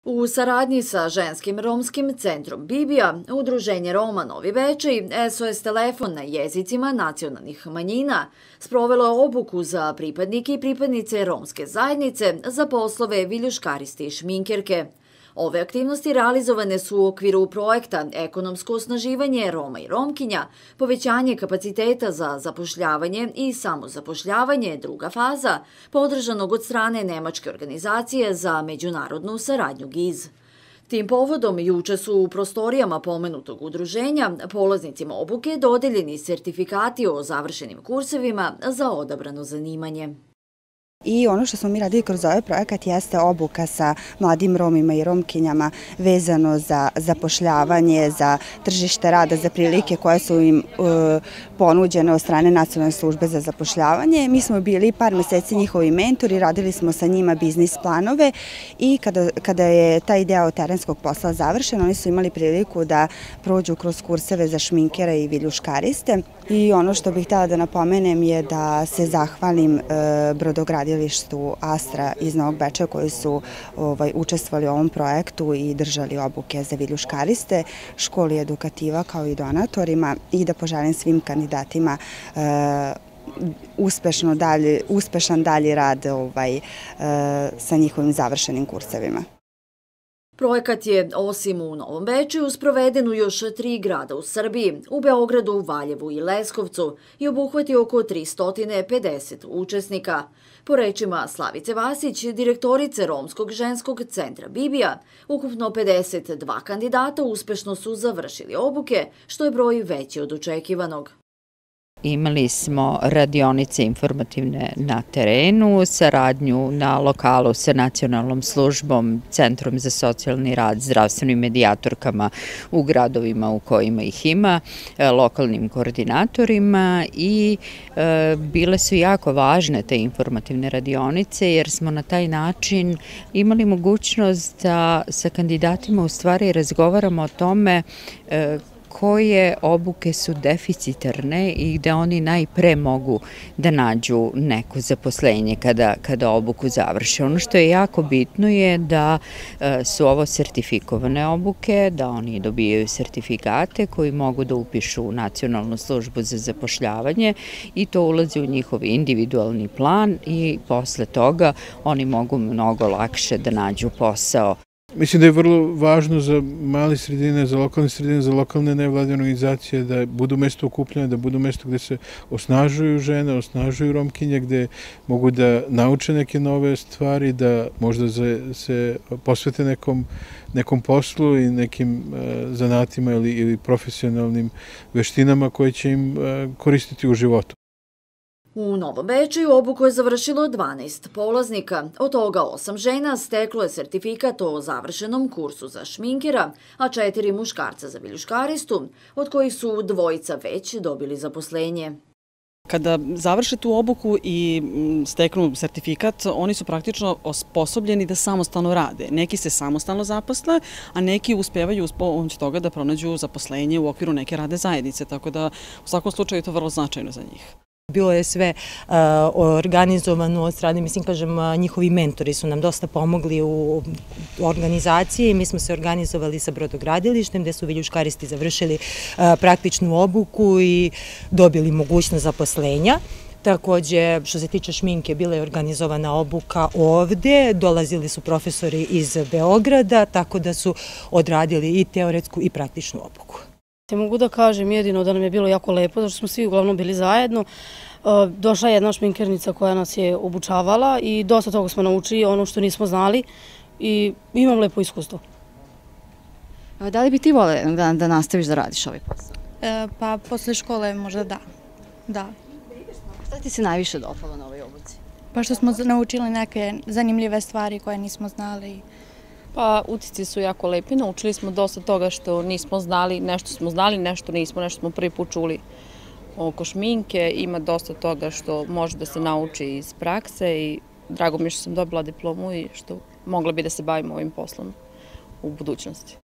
U saradnji sa ženskim romskim centrom Bibija, Udruženje Roma Novi Bečej, SOS telefon na jezicima nacionalnih manjina sprovelo je obuku za pripadnike i pripadnice romske zajednice za poslove viljuškaristi i šminkerke. Ove aktivnosti realizovane su u okviru projekta Ekonomsko osnaživanje Roma i Romkinja, povećanje kapaciteta za zapošljavanje i samozapošljavanje, druga faza, podržanog od strane Nemačke organizacije za međunarodnu saradnju GIZ. Tim povodom juče su u prostorijama pomenutog udruženja polaznicima obuke dodeljeni sertifikati o završenim kursevima za odabrano zanimanje. I ono što smo mi radili kroz ovaj projekat jeste obuka sa mladim Romima i Romkinjama vezano za zapošljavanje, za tržište rada, za prilike koje su im ponuđene od strane Nacionalne službe za zapošljavanje. Mi smo bili par meseci njihovi mentori, radili smo sa njima biznis planove i kada je taj deo terenskog posla završen, oni su imali priliku da prođu kroz kurseve za šminkera i viljuškariste. I ono što bih htjela da napomenem je da se zahvalim brodogradilištu Astra iz Novog Bečeja koji su učestvovali u ovom projektu i držali obuke za viljuškariste, školi edukativa kao i donatorima i da poželim svim kandidatima uspešan dalji rad sa njihovim završenim kursevima. Projekat je, osim u Novom Bečeju, sproveden u još 3 grada u Srbiji, u Beogradu, Valjevu i Leskovcu i obuhvati oko 350 učesnika. Po rečima Slavice Vasić, direktorice Romskog ženskog centra Bibija, ukupno 52 kandidata uspešno su završili obuke, što je broj veći od očekivanog. Imali smo radionice informativne na terenu, saradnju na lokalu sa nacionalnom službom, Centrom za socijalni rad, zdravstvenim medijatorkama u gradovima u kojima ih ima, lokalnim koordinatorima i bile su jako važne te informativne radionice jer smo na taj način imali mogućnost da sa kandidatima u stvari razgovaramo o tome koje obuke su deficitarne i gde oni najpre mogu da nađu neko zaposlenje kada obuku završe. Ono što je jako bitno je da su ovo sertifikovane obuke, da oni dobijaju sertifikate koji mogu da upišu u Nacionalnu službu za zapošljavanje i to ulazi u njihov individualni plan i posle toga oni mogu mnogo lakše da nađu posao. Mislim da je vrlo važno za male sredine, za lokalne nevladine organizacije da budu mesto okupljanja, da budu mesto gde se osnažuju žene, osnažuju Romkinje, gde mogu da nauče neke nove stvari, da možda se posvete nekom poslu i nekim zanatima ili profesionalnim veštinama koje će im koristiti u životu. U Novom Bečeju obuku je završilo 12 polaznika, od toga 8 žena steklo je sertifikat o završenom kursu za šminkera, a 4 muškarca za viljuškaristu, od kojih su 2 već dobili zaposlenje. Kada završe tu obuku i steknu sertifikat, oni su praktično osposobljeni da samostalno rade. Neki se samostalno zaposle, a neki uspevaju uz pomoć toga da pronađu zaposlenje u okviru neke radne zajednice, tako da u svakom slučaju je to vrlo značajno za njih. Bilo je sve organizovano od strane, njihovi mentori su nam dosta pomogli u organizaciji. Mi smo se organizovali sa brodogradilištem gde su viljuškaristi završili praktičnu obuku i dobili mogućnost zaposlenja. Takođe, što se tiče šminke, bila je organizovana obuka ovde, dolazili su profesori iz Beograda, tako da su odradili i teoretsku i praktičnu obuku. Mogu da kažem jedino da nam je bilo jako lepo, zato što smo svi uglavnom bili zajedno. Došla je jedna šminkernica koja nas je obučavala i dosta toga smo naučili, ono što nismo znali i imam lepo iskustvo. Da li bi ti voljela da nastaviš da radiš ovaj posao? Pa posle škole možda da. Šta ti se najviše dopalo na ovoj obuci? Pa što smo naučili neke zanimljive stvari koje nismo znali. Pa utisci su jako lepi, naučili smo dosta toga što nismo znali, nešto smo znali, nešto nismo, nešto smo prvi put čuli oko šminke, ima dosta toga što može da se nauči iz prakse i drago mi je što sam dobila diplomu i što mogla bi da se bavim ovim poslom u budućnosti.